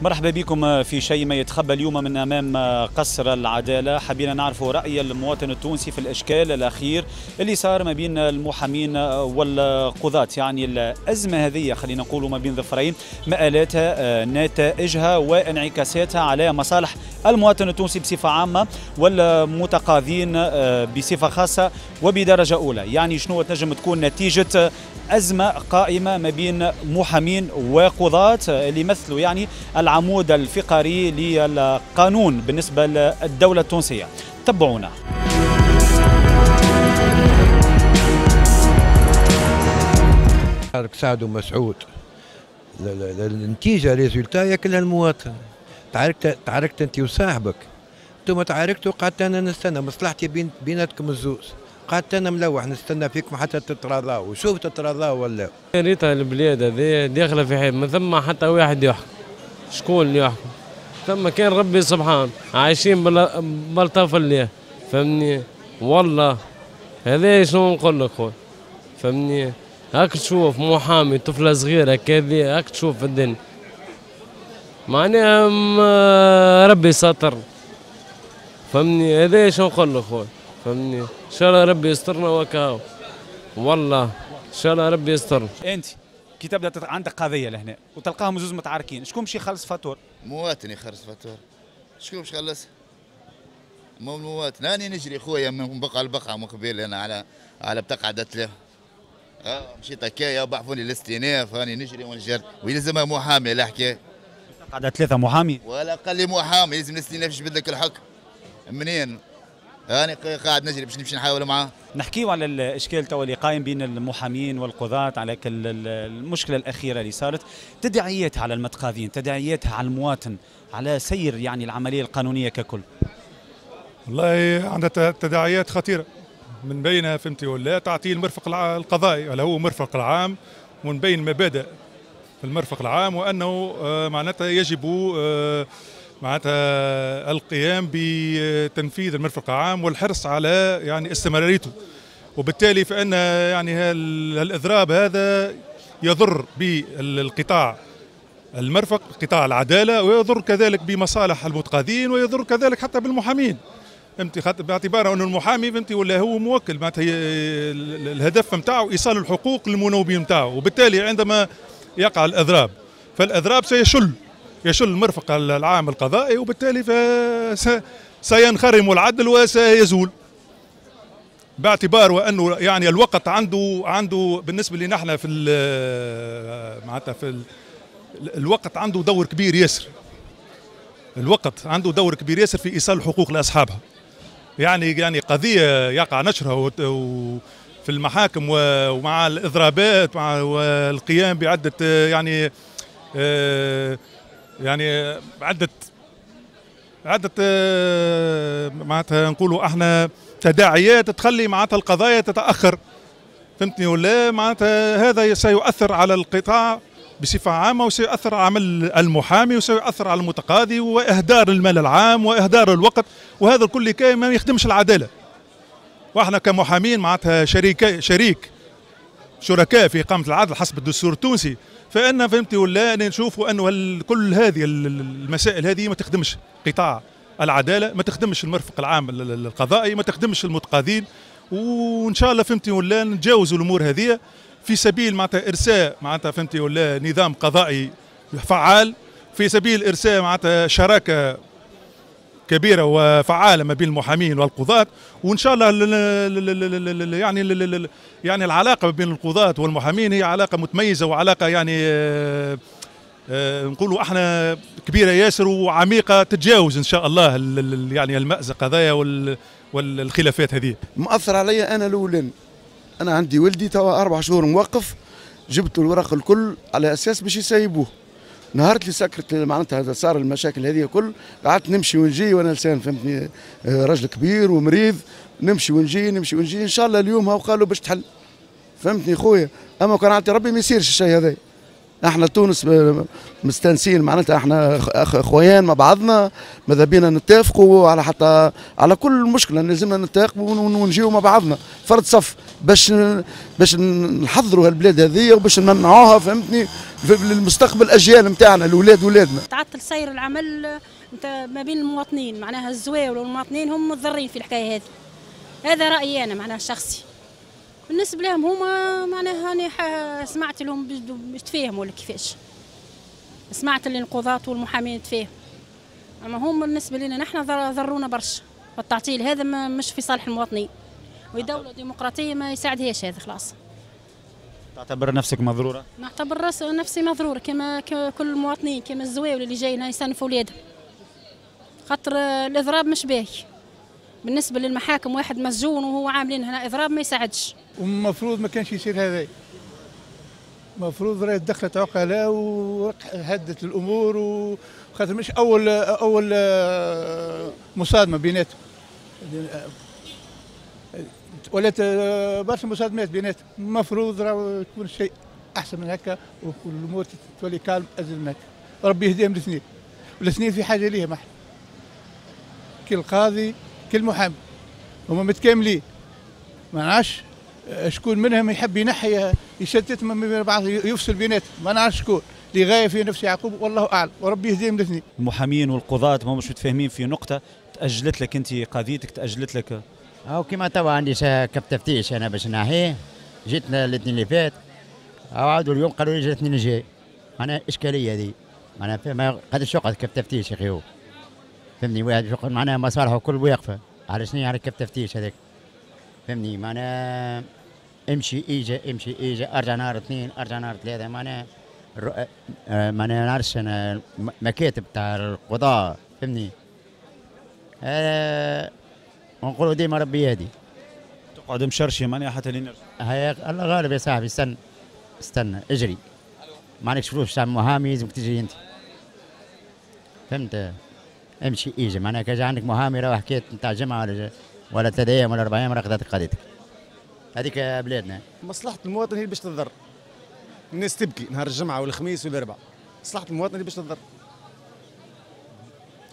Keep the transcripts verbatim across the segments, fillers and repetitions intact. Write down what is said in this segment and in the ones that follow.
مرحبا بكم في شيء ما يتخبى اليوم من أمام قصر العدالة. حبينا نعرف رأي المواطن التونسي في الإشكال الأخير اللي صار ما بين المحامين والقضاة، يعني الأزمة هذه خلينا نقولوا ما بين ظفرين، مآلاتها، نتائجها وانعكاساتها على مصالح المواطن التونسي بصفة عامة والمتقاضين بصفة خاصة وبدرجة أولى. يعني شنو تنجم تكون نتيجة أزمة قائمة ما بين محامين وقضاة اللي يمثلوا يعني العمود الفقري للقانون بالنسبة للدولة التونسية. تبعونا. سعد ومسعود النتيجة résultat ياكلها المواطن. تعاركت تعاركت انت وصاحبك، انتم تعاركتوا، قعدت انا نستنى مصلحتي بين بيناتكم الزوز، قعدت انا ملوح نستنى فيكم حتى تتراضاو، وشوف تتراضاو ولا. ريتها البلاد هذه داخله في حيط، ما ثم حتى واحد يحكم، شكون اللي يحكم؟ ثم كان ربي سبحانه، عايشين بلطف الله، فهمني؟ والله هذا شنو نقول لك خويا، فهمني؟ هاك تشوف محامي طفله صغيرة كذا، هاك تشوف في الدنيا، معناها ربي ساتر، فهمني؟ هذا شنو نقول لك خويا، فهمني؟ ان شاء الله ربي يسترنا وكاو، والله ان شاء الله ربي يسترنا. انت كي تبدا عندك قضية لهنا وتلقاهم زوز متعاركين، شكون باش يخلص فاتور؟ مواطن يخلص فاتور، شكون باش يخلص؟ مو المواطن. انا نجري خويا من بقعة لبقعه من قبيل انا على على بتقعه ثلاثة. اه مشيت هكايا بعثوني للاستئناف، راني نجري ونجري ويلزمها محامي الحكاية. قعدة ثلاثة محامي؟ ولا قال لي محامي لازم الاستئناف يجبد لك الحكم. منين؟ أنا قاعد نجري باش نمشي نحاول معاه. نحكيو على الإشكال توا اللي قايم بين المحامين والقضاة، على المشكلة الأخيرة اللي صارت، تداعياتها على المتقاضين، تداعياتها على المواطن، على سير يعني العملية القانونية ككل. والله عندها تداعيات خطيرة، من بينها فهمتي ولا تعطيل المرفق القضائي ولا هو مرفق العام، ومن بين مبادئ المرفق العام وأنه معناتها يجب معناتها القيام بتنفيذ المرفق العام والحرص على يعني استمراريته، وبالتالي فإن يعني الإضراب هذا يضر بالقطاع المرفق، قطاع العدالة، ويضر كذلك بمصالح المتقاضين، ويضر كذلك حتى بالمحامين، فهمتي؟ باعتبار أن المحامي فهمتي ولا هو موكل، معناتها الهدف نتاعو إيصال الحقوق للمنوبين نتاعو، وبالتالي عندما يقع الإضراب فالإضراب سيشل يشل المرفق العام القضائي، وبالتالي سينخرم العدل وسيزول، باعتبار وانه يعني الوقت عنده عنده بالنسبة لنا احنا في معناتها في ال الوقت عنده دور كبير ياسر. الوقت عنده دور كبير ياسر في ايصال الحقوق لاصحابها. يعني يعني قضية يقع نشرها في المحاكم ومع الاضرابات مع والقيام بعده يعني يعني عدة عدة معناتها نقولوا احنا تداعيات تخلي معناتها القضايا تتأخر، فهمتني ولا؟ معناتها هذا سيؤثر على القطاع بصفة عامة، وسيؤثر على عمل المحامي، وسيؤثر على المتقاضي، وإهدار المال العام وإهدار الوقت، وهذا الكل كي ما يخدمش العدالة. واحنا كمحامين معناتها شريك شريك شركاء في إقامة العدل حسب الدستور التونسي، فإن فهمتي ولا نشوفوا أنه كل هذه المسائل هذه ما تخدمش قطاع العدالة، ما تخدمش المرفق العام القضائي، ما تخدمش المتقاضين، وإن شاء الله فهمتي ولا نتجاوزوا الأمور هذه في سبيل معناتها إرساء معناتها فهمتي ولا نظام قضائي فعال، في سبيل إرساء معناتها شراكة كبيرة وفعالة ما بين المحامين والقضاة، وإن شاء الله يعني يعني العلاقة بين القضاة والمحامين هي علاقة متميزة وعلاقة يعني نقولوا احنا كبيرة ياسر وعميقة، تتجاوز إن شاء الله يعني المأزق هذايا والخلافات هذه. مأثر علي أنا الأولين، أنا عندي ولدي توا أربع شهور موقف، جبت الورق الكل على أساس باش يسيبوه. نهار اللي سكرت معناتها هذا صار المشاكل هذه الكل، قعدت نمشي ونجي وانا لسان فهمتني رجل كبير ومريض، نمشي ونجي نمشي ونجي، ان شاء الله اليوم هاو قالوا باش تحل، فهمتني خويا؟ اما كان عندي ربي ما يصيرش الشيء هذا. احنا تونس مستانسين معناتها احنا اخويان مع بعضنا، ماذا بينا نتفقوا على حتى على كل مشكلة لازمنا نتفقوا ونجيو مع بعضنا فرد صف. باش باش نحضروا هالبلاد هذه وباش نمنعوها، فهمتني، للمستقبل الاجيال نتاعنا، الاولاد ولادنا. تعطل سير العمل ما بين المواطنين، معناها الزواول والمواطنين هم متضررين في الحكاية هذه. هذا رايي انا معناها الشخصي. بالنسبة لهم هما معناها انا سمعت لهم باش تفاهموا ولا كيفاش، سمعت اللي القضاة والمحامين تفاهموا، اما هم بالنسبة لنا نحن ضرونا برشا، والتعطيل هذا مش في صالح المواطنين، ودولة ديمقراطية ما يساعدهاش هذا خلاص. تعتبر نفسك مضروره؟ نعتبر نفسي مضروره كما كل المواطنين، كما الزواول اللي جايين يصنفوا ولادهم، خاطر الاضراب مش باهي بالنسبة للمحاكم. واحد مسجون وهو عاملين هنا اضراب ما يساعدش، والمفروض ما كانش يصير هذا. المفروض راهي دخلت عقلاء وهدت الامور، وخاطر مش اول اول مصادمة بيناتهم، ولات برشا مصادمات بيناتهم. المفروض راه يكون شيء احسن من هكا، والامور تولي كالم ازيد من هكا. ربي يهديهم الاثنين، والاثنين في حاجة ليهم احنا، كل قاضي كل محامي هما متكاملين، ما نعرفش شكون منهم يحب ينحي يشتت من بعض يفصل بيناتهم، ما نعرفش شكون لغاية في نفس يعقوب، والله اعلم، وربي يهديهم الاثنين. المحامين والقضاة ما مش متفاهمين في نقطة، تاجلت لك انت قضيتك، تاجلت لك. او كيما توا عندي كف تفتيش انا باش نحيه، جيت الاثنين اللي فات، او عاودوا اليوم قالوا لي جا الاثنين الجاي. معناها اشكالية هذه، معناها ما قادرش يقعد كف تفتيش يا اخي هو، فهمني، واحد معناها مصالحه كل واقفة على شنو، على كف تفتيش هذاك، فهمني، معناها امشي ايجا امشي ايجا، ارجع نهار اثنين ارجع نهار ثلاثة، معناها معناها نعرفش انا مكاتب تاع القضاء، فهمني، أه ونقولوا ديما ربي يهدي. تقعد مشرشي معناها حتى لين نرجع. هيا الله غالب يا صاحبي، استنى استنى اجري، ما عندكش فلوس تاع محامي لازمك تجري انت، فهمت، امشي ايجا، معناها كان عندك محامي راه حكاية نتاع جمعه ولا ولا ثلاث ايام ولا اربع ايام راه خذت قضيتك. هذيك بلادنا. مصلحة المواطن هي باش تضر. الناس تبكي نهار الجمعة والخميس والاربعاء، مصلحة المواطن هي باش تضر.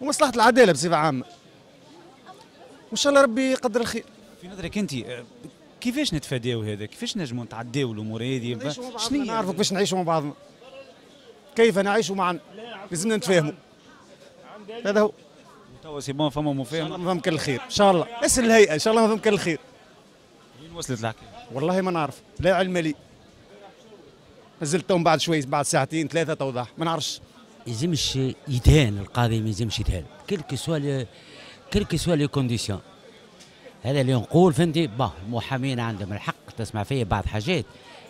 ومصلحه العدالة بصفة عامة. وان شاء الله ربي يقدر الخير. في نظرك انت كيفاش نتفاداو هذا؟ كيفاش نجموا نتعداو الامور هذه؟ شنو نعرفوا كيفاش نعيشوا مع بعضنا؟ كيف نعيش معا؟ لازمنا نتفاهموا. هذا هو. توا c'est bon فما مفاهمه؟ ما فهم كان الخير، ان شاء الله، اسال الهيئة ان شاء الله ما فهم كان الخير. وين وصلت الحكاية؟ والله ما نعرف، لا علم لي. نزلت تو بعد شوي، بعد ساعتين ثلاثة توضح، ما نعرفش. يلزمش يتهان القاضي، ما يلزمش يتهان، quelles que soient quelles que soient les conditions. هذا اللي نقول، فهمتي؟ bon المحامين عندهم الحق تسمع فيا بعض حاجات،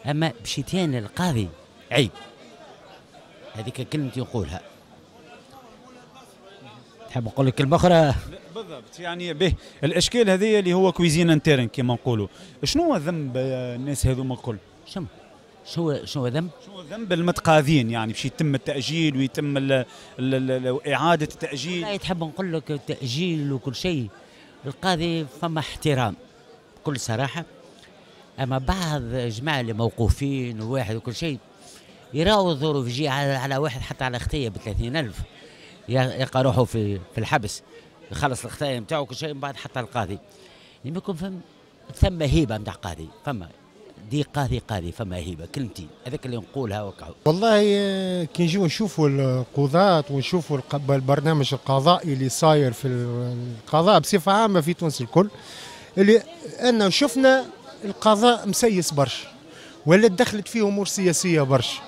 اما باش يتهان القاضي عيب. هذيك كلمتي نقولها. تحب نقول لك كلمة اخرى؟ بالضبط، يعني به الاشكال هذه اللي هو cuisine interne كما نقولوا، شنو هو ذنب الناس هذوما الكل؟ شنو شنو شنو ذنب؟ شنو ذنب المتقاضين يعني باش يتم التاجيل ويتم ال ال ال اعاده التاجيل؟ لا تحب نقول لك التاجيل وكل شيء، القاضي فما احترام بكل صراحة، اما بعض جماعة اللي موقوفين وواحد وكل شيء يراو الظروف، يجي على, على واحد حتى على خطيه ب ثلاثين ألف يلقى روحه في في الحبس، يخلص الخطايا نتاعو كل شيء من بعد حتى القاضي. لما يكون فم ثم هيبة نتاع قاضي، فما دي قاضي قاضي فما هيبة، كلمتين هذاك اللي نقولها وكعو. والله كي نجيو نشوفوا القضاة ونشوفوا البرنامج القضائي اللي صاير في القضاء بصفة عامة في تونس الكل، اللي أن شفنا القضاء مسيس برشا ولا دخلت فيه أمور سياسية برشا.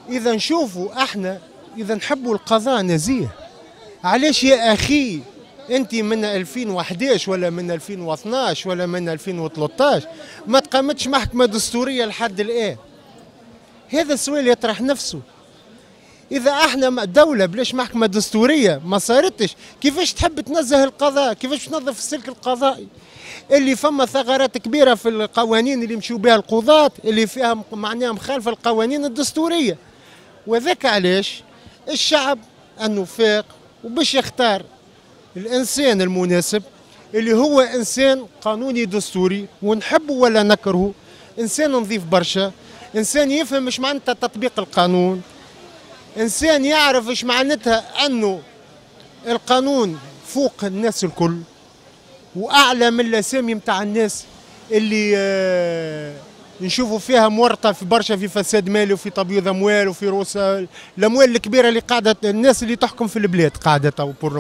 إذا نشوفوا احنا إذا نحبوا القضاء نزيه، علاش يا أخي أنت من ألفين وأحد عشر ولا من ألفين واثناش ولا من ألفين وثلاثطاش ما تقامتش محكمة دستورية لحد الآن؟ هذا السؤال يطرح نفسه. إذا احنا دولة بلاش محكمة دستورية ما صارتش، كيفاش تحب تنزه القضاء؟ كيفاش تنظف السلك القضائي؟ اللي فما ثغرات كبيرة في القوانين اللي مشوا بها القضاة، اللي فيها معناها مخالفة القوانين الدستورية. وذاك علاش الشعب أنه فاق وباش يختار الإنسان المناسب اللي هو إنسان قانوني دستوري، ونحبه ولا نكرهه، إنسان نظيف برشا، إنسان يفهم إيش معناتها تطبيق القانون، إنسان يعرف إيش معناتها أنه القانون فوق الناس الكل وأعلى من الأسامي متاع الناس اللي آه نشوفوا فيها مورطه في برشا في فساد مالي وفي تبييض اموال وفي رؤوس الاموال الكبيرة اللي قاعدة الناس اللي تحكم في البلاد قاعدة تو pour